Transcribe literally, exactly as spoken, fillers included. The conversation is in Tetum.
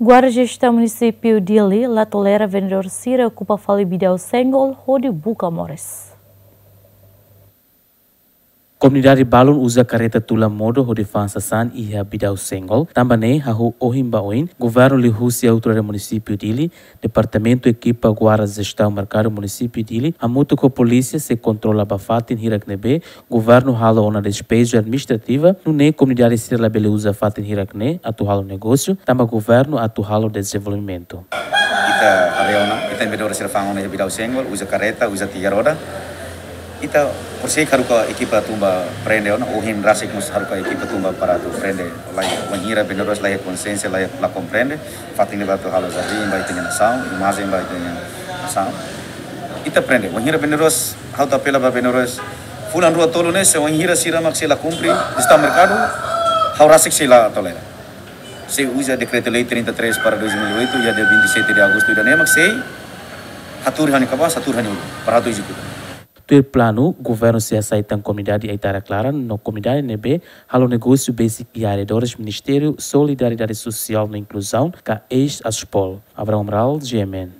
Guarda Jestaun Munisípiu Dili la tolera vendedór sira okupa fali Bidau Senggol hodi buka moris. Komunidade balun uza kareta tula modo hodi fa'an sasán iha Bidau Senggol. Tanba ne'e, hahú ohin ba oin, governu liuhusi autoridade munisípiu Dili, departamentu ekipa guarda jestaun merkadu munisípiu Dili, hamutuk ho polísia sei kontrola ba fatin hirak ne'ebé governu halo ona despeju administrativa, nune'e komunidade sira labele uza fatin hirak ne'e atu halo negósiu, tanba governu atu halo dezenvolvimentu. Ita haree ona, ita vendedór sira fa'an ona iha Bidau Senggol, uza kareta, uza tiga roda. Ita, por sei haruka ekipa tun ba prende ona, ohin rasik mós haruka ekipa tun ba para atu prende. Laiha, wainhira vendedores laiha konsiénsia, laiha, la komprende, fatin ne'ebá atu halo jardín ba ita-nia nasaun, imajen ba ita-nia nasaun. Ita prende, wainhira vendedores, ha'u atu apela ba vendedores, fulan rua tolu ne'e, se wainhira sira mak sei la kumpre, jestaun merkadu, ha'u rasik sei la tolera. Sei uza Dekretu-Lei trinta e três barra dois mil e oito, iha dia vinte e sete de agosto ida-ne'e mak sei hatuur iha ha'u-nia kabaas, hatuur iha ha'u-nia ulun, para ha'u atu ezekuta. Tuir planu, governu sei hasai tan komunidade Aitarak Laran no komunidade ne'ebé halo negósiu besik iha arredores Ministériu Solidariedade Sosiál no Inkluzaun, ka eis-ASPOL. Abraão Amaral, G M N.